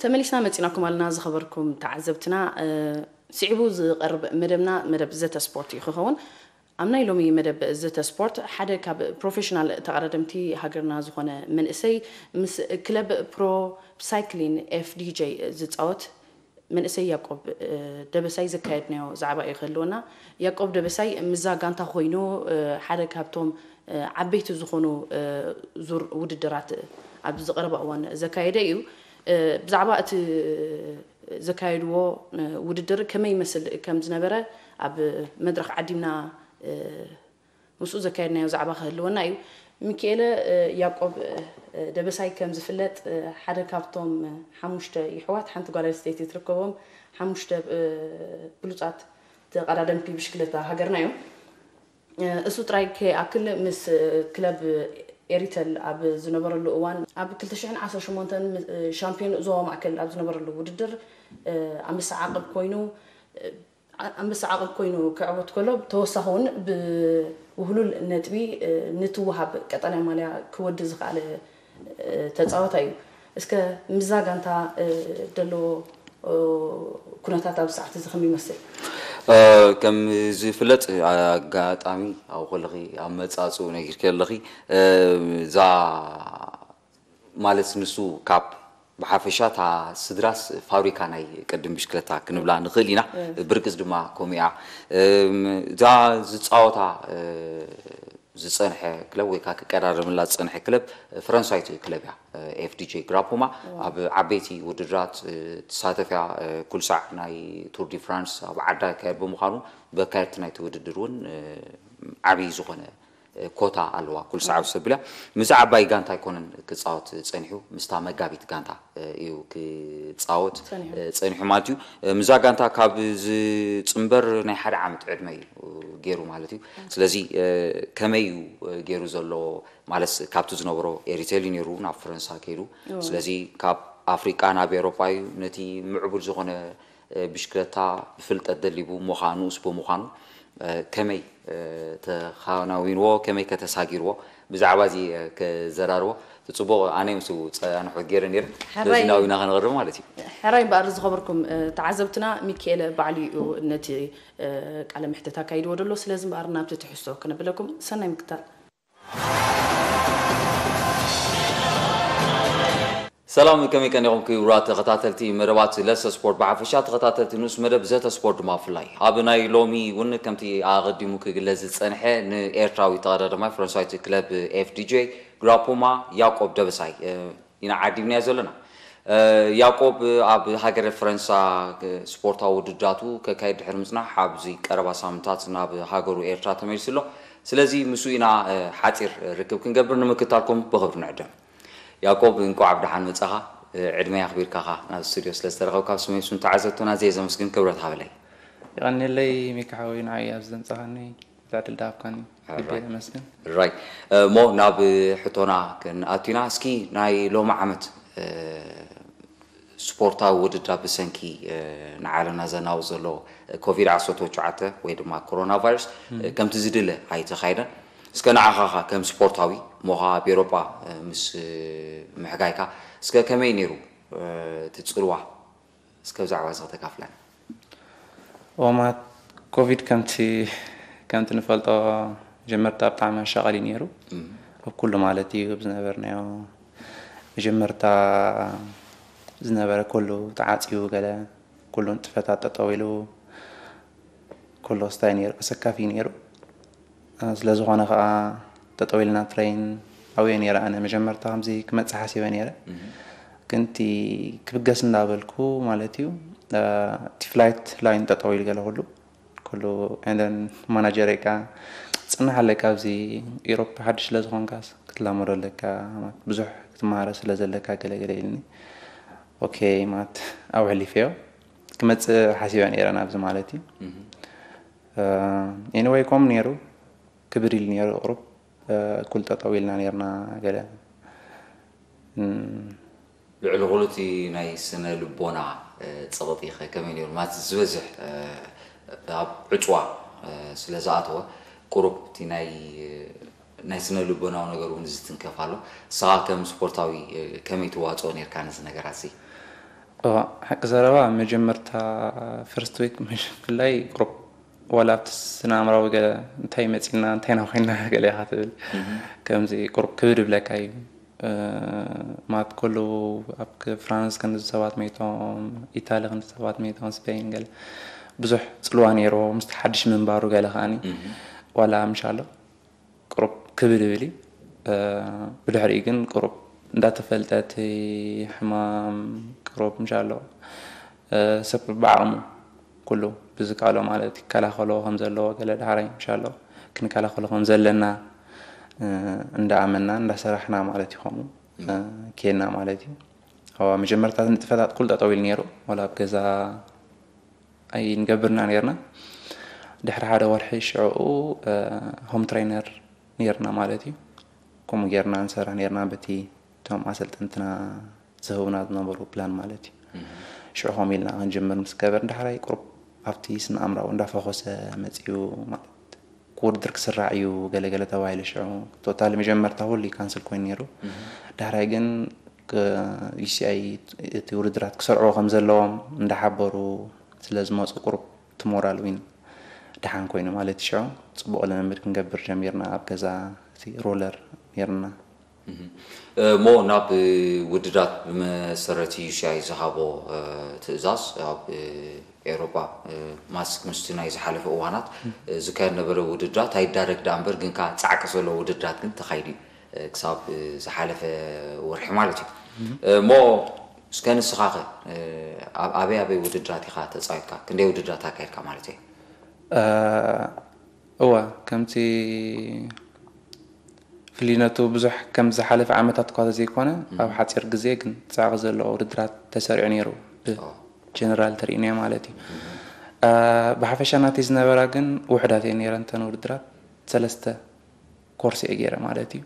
ተመሊስና መጺናኩም ኣለና ዝኸበርኩም ተዓዘብትና። ስዒቡ ዝቐርብ መደብና መደብ ዘተ ስፖርት እዩ ክኸውን። ኣብ ናይ ሎሚ መደብ ዘተ ስፖርት ሓደ ካብ ፕሮፌሽናል ተቐዳደምቲ ሃገርና ዝኾነ መንእሰይ ምስ ክለብ ፕሮ ሳይክሊን ኤፍዲጄ ዝፃወት መንእሰይ ያቆብ ደበሳይ ዘካየድናዮ ዛዕባ እዩ ክህልወና። ያቆብ ደበሳይ ምዛ ጋንታ ኮይኑ ሓደ ካብቶም ዓበይቲ ዝኾኑ ዙር ውድድራት ኣብ ዝቐረበ እዋን ዘካየደ እዩ። ብዛዕባ እቲ ዘካየድዎ ውድድር ከመይ ይመስል ከም ዝነበረ ኣብ መድረኽ ዓዲምና ምስኡ ዘካየድናዮ ዛዕባ ክህልወና እዩ። ሚኪኤለ ያቆብ ደበሳይ ከም ዝፍለጥ ሓደ ካብቶም ሓሙሽተ ይሕዋት ሓንቲ ጓል ኣንስተይቲ ትርከቦም ሓሙሽተ ብሉጻት ተቐዳደምቲ ብሽክለታ ሃገርና እዮም። እሱ ጥራይ ከይኣክል ምስ ክለብ ኤሪተል ኣብ ዝነበረሉ እዋን ኣብ ክልተ ሽሕን ዓሰርተ ሸሞንተን ሻምፒዮን ዞባ ማእከል ኣብ ዝነበረሉ ውድድር ኣንበሳ ዓቕብ ኮይኑ ኣንበሳ ዓቕብ ኮይኑ ክዕወት ከሎ ተወሳኺ እውን ብውህሉል ነጥቢ ንትወሃብ ቀጠልያ ማልያ ክወዲ ዝኸኣለ ተፃወታይ እዩ። እስከ ምዛ ጋንታ ደሎ ኩነታት ኣብዚ ሰዓት እዚ ከም ይመስል? ከም ዝፍለጥ ኣጋጣሚ ኣብ ከለኺ ኣብ መጻጽኡ ነጊርኪ ኣለኺ። እዛ ማለት ንሱ ካብ ብሓፈሻ እታ ስድራስ ፋብሪካ ናይ ቅድም ብሽክለታ ክንብላ ንኽእል ኢና። ብርቅስ ድማ ከምኡ እያ። እዛ ዝፃወታ ዝፀንሐ ክለብ ወይ ከዓ ክቀዳደምላ ዝፀንሐ ክለብ ፈረንሳዊት ክለብ እያ። ኤፍዲጄ ግራፖማ ኣብ ዓበይቲ ውድድራት ትሳተፍ እያ። ኩልሳዕ ናይ ቱር ዲ ፍራንስ ኣብ ዓዳ ይካየድ ብምዃኑ በካየድቲ ናይቲ ውድድር እውን ዓብዪ ዝኾነ ኮታ ኣለዋ። ኩልሳዕ ኣብ ሰብልያ ምስ ዓባይ ጋንታ ኣይኮነን ክፃወት ፀኒሑ ምስታ መጋቢት ጋንታ እዩ ክፃወት ፀኒሑ ማለት እዩ። ምዛ ጋንታ ካብ ዝፅንበር ናይ ሓደ ዓመት ዕድመ እዩ ገይሩ ማለት እዩ። ስለዚ ከመይ እዩ ገይሩ ዘሎ ማለት ካብቲ ዝነበሮ ኤሪቴል እዩ ነይሩ ናብ ፈረንሳ ከይዱ። ስለዚ ካብ ኣፍሪቃ ናብ ኤሮጳ እዩ ነቲ ምዕቡል ዝኾነ ብሽክለታ ብፍልጠት ደሊቡ ምዃኑ ንኡስ ብምዃኑ ከመይ ተኻናዊንዎ ከመይ ከተሳጊርዎ ብዛዕባ እዚ ክዘራርቦ እቲ ፅቡቕ ኣነ ምስ ፀናሑ ገይረ ነይረ ስለዚ ናዊና ከነቕርብ ማለት እዩ። ሕራይ እምበኣር ዝኸበርኩም ተዓዘብትና ሚኪኤለ ባዕሉ እዩ ነቲ ቃለ ምሕተት ኣካይድዎ ደሎ ስለዚ እምበኣር ናብቲ ትሕዝቶ ክነብለኩም ሰናይ ምክታል። ሰላም ከመይ ቀኒኹም ክቡራት ተኸታተልቲ መደባት ለሰ ስፖርት ብሓፈሻ ተኸታተልቲ ንኡስ መደብ ዘተ ስፖርት ድማ ብፍላይ ኣብ ናይ ሎሚ እውን ከምቲ ኣቐዲሙ ክግለጽ ዝጸንሐ ንኤርትራዊ ተቐዳዳማይ ፈረንሳዊት ክለብ ኤፍዲጄ ግራፖማ ያቆብ ደበሳይ ኢና ዓዲምናዮ ዘለና። ያቆብ ኣብ ሃገረ ፈረንሳ ስፖርታዊ ውድድራቱ ከካይድ ድሕሪ ምጽናሕ ኣብዚ ቀረባ ሳምንታት ናብ ሃገሩ ኤርትራ ተመሊሱ ኣሎ። ስለዚ ምስኡ ኢና ሓጺር ርክብ ክንገብር ንምክታልኩም ብኽብሪ ንዕደም። ያቆብ እንቋዕ ብደሓን መጻኻ። ዕድመይ ኣኽቢርካ ኻ ናብ ስቱድዮ ስለ ዝተረኸብካ ብስመይ ብስም ተዓዘብትና ዘየ ዘመስግን ክብረት ሃበለይ። የቐንየለይ ሚካ ሓወይ ንዓይ ኣብዚ ዘምጻኻኒ። ዕድል ድሃብካኒ ልበይ የመስግን። ራይ እሞ ናብ ሕቶና ክንኣቱና እስኪ ናይ ሎሚ ዓመት ስፖርታዊ ውድድር ብሰንኪ ንዓለምና ዘናውፅ ዘሎ ኮቪድ ዓሰርተ ትሽዓተ ወይ ድማ ኮሮና ቫይረስ ከምቲ ዝድለ ኣይተኻየደን። እስከ ንዓኻ ኸ ከም ስፖርታዊ ሞኻ ኣብ ኤሮጳ ምስ ምሕጋይካ እስከ ከመይ ነይሩ እቲ ፅልዋ እስከ ብዛዕባ እዚ ከተካፍለና። እዋማት ኮቪድ ከምቲ ከምቲ ንፈልጦ መጀመርታ ብጣዕሚ ኣሻቓሊ ነይሩ ኣብ ኩሉ ማለት እዩ ኣብ ዝነበርናዮ መጀመርታ ዝነበረ ኩሉ ተዓፅዩ ገለ ኩሉ ንጥፈታት ጠጠው ኢሉ ኩሉ ስታይ ነይሩ ኣሰካፊ ነይሩ ስለ ዝኾነ ከዓ ጠጠው ኢልና ትሬን ኣብየ ነይረ ኣነ መጀመርታ ከምዚ ክመፅእ ሓሲበ ነይረ ግን እቲ ክብገስ እንዳበልኩ ማለት እዩ እቲ ፍላይት ላይን ጠጠው ኢሉ ገለ ኩሉ ኩሉ ንን ማናጀረይ ከዓ ፅናሕ ኣለካ ኣብዚ ኢሮፕ ሓድሽ ስለ ዝኾንካ ክትላመዶ ኣለካ ብዙሕ ክትመሃረ ስለ ዘለካ ገለ ገለ ኢልኒ ኦኬ ማለት ኣብኡ ሕሊፈዮ ክመፅእ ሓሲበ ነይረ ናብዚ ማለት እዩ anyway ከም ነይሩ ክብድ ኢሉ ነይሩ ቁሩብ ኩል ጠጠው ኢልና ነይርና ገለ ልዕሊ ኩሉ እቲ ናይ ስነ ልቦና ፀቕጢ ኸ ከመይ ነይሩ ማለት ዝበዝሕ ኣብ ዕፅዋ ስለ ዝኣተወ ቁሩብ እቲ ናይ ናይ ስነ ልቦናዊ ነገር እውን ዝትንከፍ ኣሎ ንስኻ ከም ስፖርታዊ ከመይ ትዋፅኦ ነርካ ነዚ ነገራት እዚ እዋ፣ ሓቂ ዘረባ፣ መጀመርታ ፈርስት ዊክ ብፍላይ ቁሩብ ዋላ ኣብቲ ስነ ኣእምራዊ ገለ እንታይ መጺና እንታይ ኢና ኮይና ገለ ኢኻ ትብል። ከምዚ ቁሩብ ክብድ ይብለካ እዩ። ማት ኩሉ ኣብ ፍራንስ ክንዲ ሰባት መይቶም፣ ኢታሊ ክንዲ ሰባት መይቶም፣ ስፔን ገለ ብዙሕ ጽልዋ ነይርዎ ምስቲ ሓድሽ ምንባሩ ገለ ከኣኒ ዋላ ምሻሎ ቁሩብ ክብድ ይብል እዩ። ብድሕሪኡ ግን ቁሩብ እንዳተፈልጠ እቲ ሕማም ቁሩብ ምሻሎ ሰብ ብዓቕሙ ኩሉ ብዝከኣሎ ማለት ይከላኸሎ ከም ዘለዎ ገለ ዳሕራይ ምሻሎ ክንከላኸሎ ከም ዘለና እንዳኣመንና እንዳሰራሕና ማለት እዩ። ከምኡ ኬድና ማለት እዩ። ኣብ መጀመርታ ንጥፈታት ኩሉ ጠጠው ኢሉ ነይሩ። ዋላ ኣብ ገዛ ኣይንገብርና ነርና። ድሕሪ ሓደ ወርሒ ሽዕኡ ሆም ትሬነር ነርና ማለት እዩ። ከምኡ ጌርና ንሰርሕ ነርና በቲ እቶም ኣሰልጠንትና ዝህቡና ዝነበሩ ፕላን ማለት እዩ። ሽዑ ከም ኢልና ክንጅምር ምስ ገበር ዳሕራይ ቁሩብ ኣብቲ ስነ ኣእምራዊ እንዳፈኾሰ መፅዩ ማለት ክውድድር ክስራዕ እዩ ገለገለ ተባሂሉ። ሽዑ ቶታሊ መጀመርታ ኩሉ ካንስል ኮይኑ ነይሩ። ዳሕራይ ግን ዩሲኣይ እቲ ውድድራት ክሰርዕዎ ከም ዘለዎም እንዳሓበሩ ስለ ዝመፁ ቁሩብ እቲ ሞራል ዊን ደሓን ኮይኑ ማለት ሽዑ ፅቡቕ ልምምድ ክንገብር ጀሚርና። ኣብ ገዛ እቲ ሮለር ነርና። እሞ ናብ ውድድራት ብመሰረት ዩሲኣይ ዝሃቦ ትእዛዝ ኣብ ኤሮጳ ማስክ ምስቲ ናይ ዝሓለፈ እዋናት ዝካየድ ነበረ ውድድራት ኣይዳረግ ደኣ እምበር ግን ከዓ ፃዕቂ ዘለዎ ውድድራት ግን ተኻይዱ እዩ። ክሳብ ዝሓለፈ ወርሒ ማለት እዩ። እሞ እስከ ንስኻ ኸ ኣብ ኣበይ ኣበይ ውድድራት ኢኻ ተፃዊትካ? ክንደይ ውድድራት ኣካይድካ ማለት እየ? እወ፣ ከምቲ ፍልይነቱ ብዙሕ ከም ዝሓለፈ ዓመታት እኳ ዘይኮነ ኣብ ሓፂር ግዜ ግን ፃዕቂ ዘለዎ ውድድራት ተሰሪዑ ነይሩ። ብጀነራል ተሪእናዮ ማለት እዩ። ብሓፈሻ ናተይ ዝነበራ ግን ውሕዳት እየ ነይረን እተን ውድድራት። ሰለስተ ኮርስ እየ ገይረ ማለት እዩ።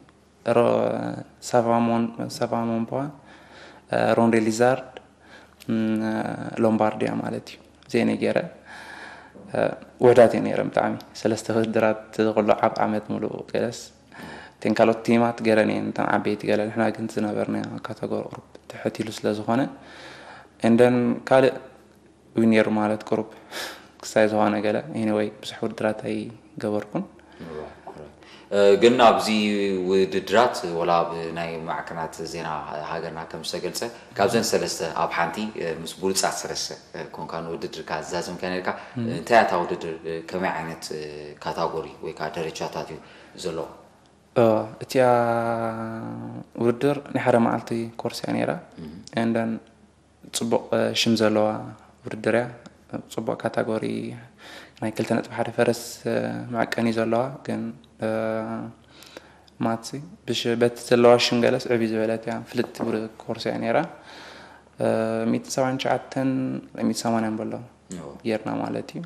ሳቫሞንባ፣ ሮንዴ ሊዛርድ፣ ሎምባርዲያ ማለት እዩ። እዚአን እየ ገይረ። ውሕዳት እየ ነይረ ብጣዕሚ። ሰለስተ ውድድራት ኩሉ ዓብ ዓመት ሙሉእ ገለስ እተን ካልኦት ቲማት ገረን እየን እተን ዓበይቲ ገለ። ንሕና ግን ዝነበርና ካተጎሪ ቁሩብ ትሕት ኢሉ ስለ ዝኾነ እንደን ካልእ ዩ ነይሩ ማለት ቁሩብ ክሳይ ዝኾነ ገለ። ኤኒወይ ብዙሕ ውድድራት ኣይገበርኩን። ግን ኣብዚ ውድድራት ወላ ኣብ ናይ ማዕከናት ዜና ሃገርና ከም ዝተገልጸ ካብዘን ሰለስተ ኣብ ሓንቲ ምስ ብሉጻት ሰለስተ ኮንካ ንውድድርካ ዝዛዘምካ ነርካ። እንታይ እያ እታ ውድድር? ከመይ ዓይነት ካታጎሪ ወይ ከዓ ደረጃታት እዩ ዘለዎ? እቲኣ ውድድር ናይ ሓደ መዓልቲ ኮርስ እያ ነይራ። እንደን ፅቡቕ ሽም ዘለዋ ውድድር እያ። ፅቡቕ ካታጎሪ ናይ ክልተ ነጥቢ ሓደ ፈረስ መዐቀኒ ዘለዋ ግን ማትሲ በቲ ዘለዋ ሽም ገለስ ዕብይ ዝበለት እያ። ፍልጥቲ ኮርስ እያ ነይራ። ሚእትን ሰብዓን ትሽዓተን ሚእትን ሰማንያን በሎ ጌርና ማለት እዩ።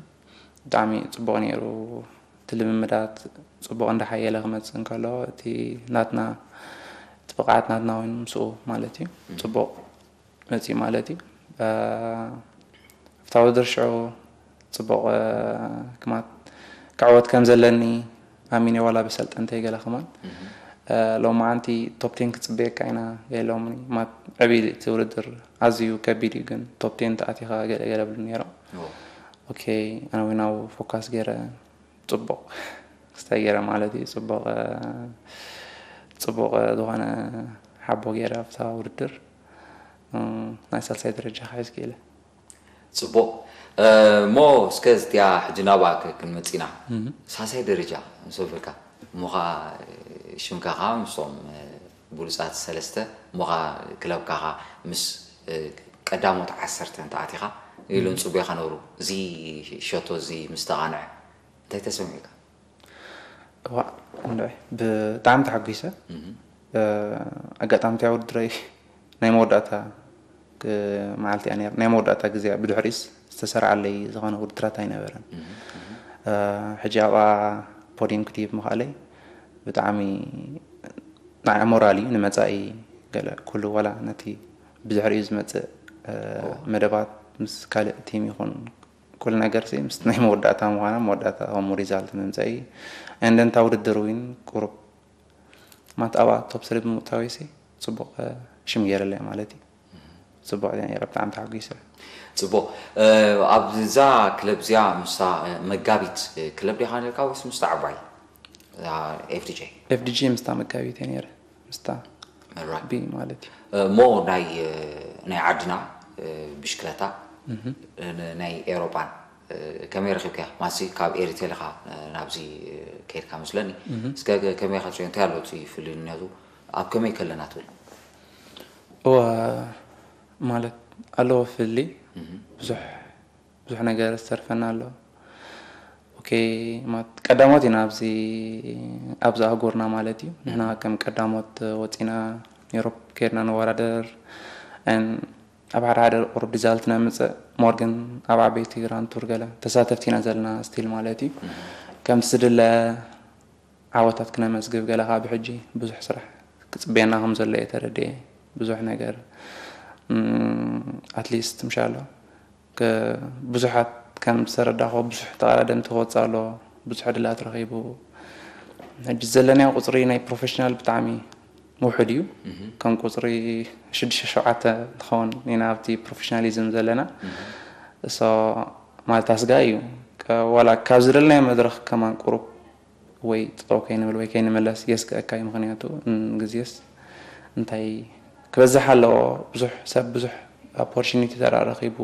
ብጣዕሚ ፅቡቕ ነይሩ። እቲ ልምምዳት ፅቡቕ እንዳሓየለ ክመፅእ እንከሎ እቲ ናትና እቲ ብቕዓት ናትና እውን ምስኡ ማለት እዩ ፅቡቕ መፅኡ ማለት እዩ። ኣብታ ውድድር ሽዑ ፅቡቕ ክማት ክዕወት ከም ዘለኒ ኣሚነ ዋላ ብሰልጠንተይ ገለ ከማን ሎማዓንቲ ቶፕ ቴን ክፅበየካ ኢና ገለምኒ። ማት ዕብይ እቲ ውድድር ኣዝዩ ከቢድ እዩ ግን ቶፕ ቴን ተኣቲኻ ገለ ገለ ብሉ ነይሮም። ኦኬ ኣነ እውን ኣብኡ ፎካስ ገይረ ፅቡቕ ክስታይ ገይረ ማለት እዩ ፅቡቕ ፅቡቕ ዝኾነ ሓቦ ገይረ ኣብታ ውድድር ናይ ሳልሳይ ደረጃ ክሕዝ ክኢለ። ፅቡቕ እሞ እስከ እዚኣ ሕጂ ናብኣ ክንመፅእ ኢና። ሳልሳይ ደረጃ ምስ በልካ እሞ ከዓ ሽምካ ከዓ ምስቶም ብሉፃት ሰለስተ እሞ ከዓ ክለብካ ከዓ ምስ ቀዳሞት ዓሰርተ እንተኣቲኻ ኢሎም ፅቡኻ ነብሩ እዚ ሸቶ እዚ ምስ ተቓንዐ እንታይ ተሰሚዑካ? እዋ እንድዒ ብጣዕሚ ተሓጒሰ። ኣጋጣሚ እቲኣ ውድድረይ ናይ መወዳእታ መዓልቲ እያ ነይራ። ናይ መወዳእታ ግዜ ብድሕሪኡስ ዝተሰርዓለይ ዝኾነ ውድድራት ኣይነበረን። ሕጂ ኣብኣ ፖዲየም ክድይብ ምኽኣለይ ብጣዕሚ ንዓይ ሞራል እዩ ንመፃኢ ገለ ኩሉ ዋላ ነቲ ብድሕሪኡ ዝመፅእ መደባት ምስ ካልእ ቲም ይኹን ኩሉ ነገር ሲ ምስ ናይ መወዳእታ ምዃና መወዳእታ ከምኡ ሪዛልት ምምፀኢ and then እታ ውድድር እውን ቁሩብ ማት ኣብኣ ቶፕ ስሪ ብምእታወይ ሲ ፅቡቕ ሽም ገይረለይ ማለት እዩ። ጽቡቕ እያ ነይራ፣ ብጣዕሚ ተሓጒሰ። ጽቡቕ። ኣብዛ ክለብ እዚኣ ምስታ መጋቢት ክለብ ዲኻ ነርካ ወይስ ምስታ ዓባይ ኤፍዲጂ? ኤፍዲጂ ምስታ መጋቢት እየ ነይረ፣ ምስታ ቢ ማለት እዩ። እሞ ናይ ናይ ዓድና ብሽክለታ ናይ ኤውሮጳን ከመይ ረኺብካ? ማሲ ካብ ኤሪቴል ኢኻ ናብዚ ከይድካ መስለኒ። እስከ ከመይ ኢኻ? እንታይ ኣሎ እቲ ፍልልነቱ? ኣብ ከመይ ከለና ትብል? እወ፣ ማለት ኣለዎ ፍሊ። ብዙሕ ብዙሕ ነገር ዝተርፈና ኣሎ። ኦኬ፣ ማለት ቀዳሞት ኢና ኣብዚ ኣብዚ ኣህጉርና ማለት እዩ። ንሕና ከም ቀዳሞት ወፂና ዩሮፕ ከይድና ንወዳደር። ኣብ ሓደ ሓደ ቁሩብ ሪዛልት ነምፅእ፣ ሞር ግን ኣብ ዓበይቲ ግራንድ ቱር ገለ ተሳተፍቲ ኢና ዘለና ስቲል ማለት እዩ። ከምቲ ዝድለ ዓወታት ክነመዝግብ ገለ ካብ ሕጂ ብዙሕ ስራሕ ክፅበየና ከም ዘሎ እየ ተረዲኤ። ብዙሕ ነገር ኣትሊስት ምሻሎ ብዙሓት ከም ዝተረዳኸ ብዙሕ ተቐዳደምቲ ክወፅእ ኣሎ፣ ብዙሕ ዕድላት ረኺቡ። ሕጂ ዘለናዮ ቁፅሪ ናይ ፕሮፌሽናል ብጣዕሚ ውሑድ እዩ። ከም ቁፅሪ ሽዱሽተ ሸውዓተ ንኸውን ኢና ኣብቲ ፕሮፌሽናሊዝም ዘለና። ሶ ማለት ኣስጋ እዩ። ዋላ ካብ ዝደለናዮ መድረኽ ከማን ቁሩብ ወይ ጠጠው ከይንብል ወይ ከይንምለስ የስግአካ እዩ። ምኽንያቱ ግዜስ እንታይ ክበዝሕ ኣለዎ። ብዙሕ ሰብ ብዙሕ ኦፖርቹኒቲ ተራ ረኺቡ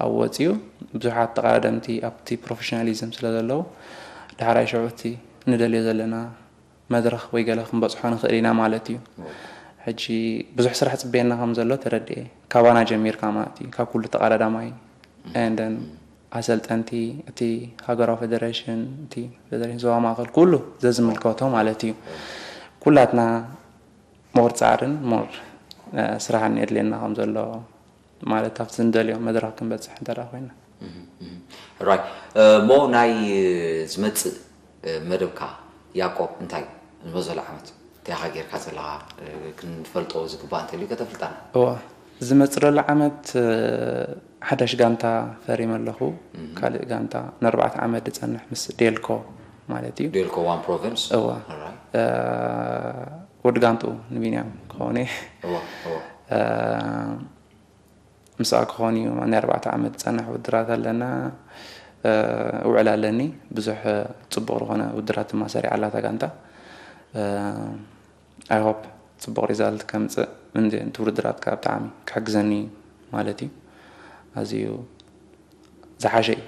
ኣብ ወፂኡ ብዙሓት ተቐዳደምቲ ኣብቲ ፕሮፌሽናሊዝም ስለ ዘለዉ ዳሕራይ ሽዑ እቲ ንደልዮ ዘለና መድረኽ ወይ ገለ ክንበፅሖ ንኽእል ኢና ማለት እዩ። ሕጂ ብዙሕ ስራሕ ፅበየና ከም ዘሎ ተረድኤ። ካባና ጀሚርካ ማለት እዩ፣ ካብ ኩሉ ተቐዳዳማይ and then ኣሰልጠንቲ፣ እቲ ሃገራዊ ፌደሬሽን፣ እቲ ፌደሬሽን ዞባ ማእከል ኩሉ ዘዝምልከቶ ማለት እዩ። ኩላትና ሞር ፃዕርን ሞር ስራሕን የድልየና ከም ዘሎ ማለት ኣብቲ ንደልዮ መድረኽ ክንበፅሕ እንተ ኮይና። ራይ እሞ ናይ ዝመፅእ መደብካ ያቆብ እንታይ ዝመዘሉ ዓመት እንታይ ኢኻ ጌርካ ዘለኻ ክንፈልጦ ዝግባእ እንተልዩ ከተፍልጣና? እዋ፣ ዝመፅእ ዘሎ ዓመት ሓዳሽ ጋንታ ፈሪመ ኣለኹ። ካልእ ጋንታ ንኣርባዕተ ዓመት ዝፀንሕ ምስ ዴልኮ ማለት እዩ። ዴልኮ ዋን ፕሮቪንስ። እዋ፣ ውድ ጋንትኡ ንቢንያም ክኸውን እየ። ምስኣ ክኾን እዩ። ናይ ኣርባዕተ ዓመት ዝፀንሕ ውድራት ኣለና። ውዕል ኣለኒ። ብዙሕ ፅቡቕ ዝኾነ ውድራት ድማ ሰሪዓ ኣላ እታ ጋንታ። I hope ፅቡቕ ሪዛልት ከምፅእ። ምንዲ እቲ ውድድራት ከዓ ብጣዕሚ ክሕግዘኒ ማለት እዩ። ኣዝዩ ዝሓሸ እዩ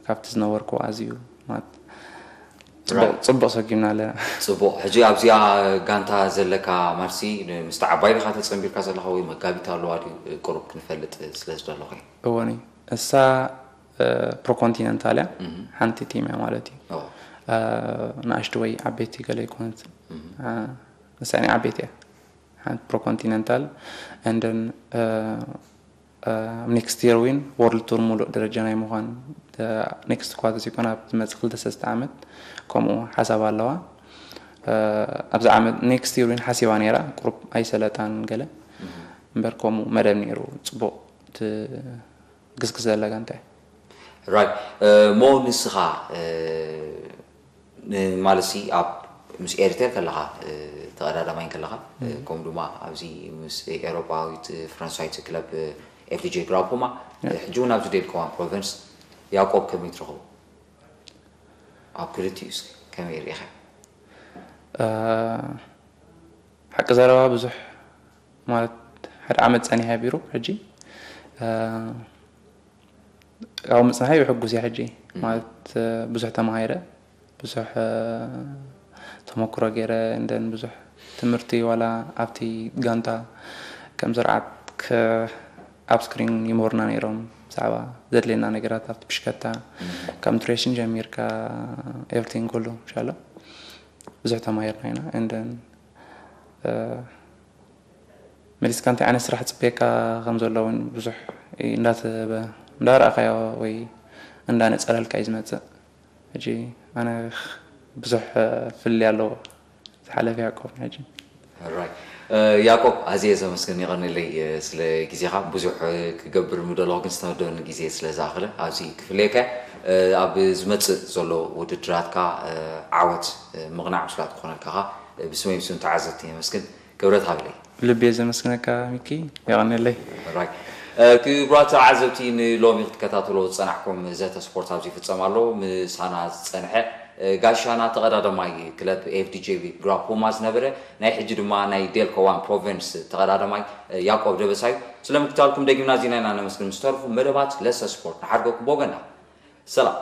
ካብቲ ዝነበርኩ። ኣዝዩ ማለት ፅቡቕ ሰጊምና ኣለና። ፅቡቕ። ሕጂ ኣብዚኣ ጋንታ ዘለካ ማርሲ ምስቲ ዓባይ ዲኻ ተፀንቢርካ ዘለኻ ወይ መጋቢት ኣለዋ ድዩ ቁሩብ ክንፈልጥ ስለ ዝደለኹ እየ። እወኒ፣ እሳ ፕሮኮንቲነንታል እያ። ሓንቲ ቲም እያ ማለት እዩ። ንኣሽቱ ወይ ዓበይቲ ገለ ይኮነት፣ ንሳ ናይ ዓበይቲ እያ። ሓንቲ ፕሮኮንቲነንታል and then ኔክስት የር ዊን ወርልድ ቱር ሙሉእ ደረጃ ናይ ምዃን ኔክስት እኳ ተዘይኮነ ኣብ ዝመፅእ ክልተ ሰለስተ ዓመት ከምኡ ሓሳብ ኣለዋ። ኣብዚ ዓመት ኔክስት የር ዊን ሓሲባ ነይራ፣ ቁሩብ ኣይሰለጣን ገለ እምበር ከምኡ መደብ ነይሩ። ፅቡቕ ትግስግስ ዘላ ጋንታ እያ። ራይት። እሞ ንስኻ ማለት ሲ ኣብ ምስ ኤሪቴል ከለኻ ተቐዳዳማይ ከለኻ ከምኡ ድማ ኣብዚ ምስ ኤውሮጳዊት ፈረንሳዊት ክለብ ኤፍዲጂ ግላውኮማ ሕጂ እውን ኣብዚ ዴልኮማ ፕሮቨንስ ያዕቆብ ከመይ ትረኽቦ? ኣብ ክልቲኡ እስኪ ከመይ ርኢኻ? ሓቂ ዘረባ ብዙሕ ማለት ሓደ ዓመት ጸኒሐ ቢሮ ሕጂ ካብኡ ምጽናሐይ ሕጉስ እየ። ሕጂ ማለት ብዙሕ ተማሂረ፣ ብዙሕ ተመክሮ ገይረ፣ እንደን ብዙሕ ትምህርቲ ዋላ ኣብቲ ጋንታ ከም ስርዓት ኣብ ስክሪን ይምህሩና ነይሮም ብዛዕባ ዘድልየና ነገራት ኣብቲ ብሽከታ ካብ ኑትሪሽን ጀሚርካ ኤቭሪቲንግ ኩሉ ምሻሎ ብዙሕ ተማሂርና ኢና። እንደን መሊስካ እንታይ ዓይነት ስራሕ ፅበየካ ከም ዘሎ እውን ብዙሕ እንዳረኣኻዮ ወይ እንዳነፀለልካ እዩ ዝመፅእ። ሕጂ ኣነ ብዙሕ ፍልልይ ኣለዎ ዝሓለፈ ያዕቆብ ሕጂ። ራይ ያዕቆብ ኣዝየ ዘመስግን፣ የቐንለይ ስለ ግዜኻ። ብዙሕ ክገብር ምደለኹ ግን ዝተመደበኒ ግዜ ስለ ዝኣኽለ ኣብዚ ክፍለየካ። ኣብ ዝመፅእ ዘሎ ውድድራትካ ዓወት ምቕናዕ ምስላ ትኾነልካ ብስመይ ብስም ተዓዘብቲ የመስግን። ክብረት ሃብለይ። ብልቢ እየ ዘመስግነካ ሚኪ። የቐንየለይ። ራይ ክቡራት ተዓዘብቲ፣ ንሎሚ ክትከታተሎ ዝፀናሕኩም ዘተ ስፖርት ኣብዚ ይፍፀም ኣሎ። ምሳና ዝፀንሐ ጋሻና ተቐዳደማይ ክለብ ኤፍዲጄቢ ግራፖማ ዝነበረ፣ ናይ ሕጂ ድማ ናይ ዴልኮዋን ፕሮቪንስ ተቐዳደማይ ያዕቆብ ደበሳዩ። ስለምክታልኩም ደጊምና ዜና ኢና ነመስግን። ምስተርፉ መደባት ለሰ ስፖርት ንሓድገኩም ብወገና ሰላም።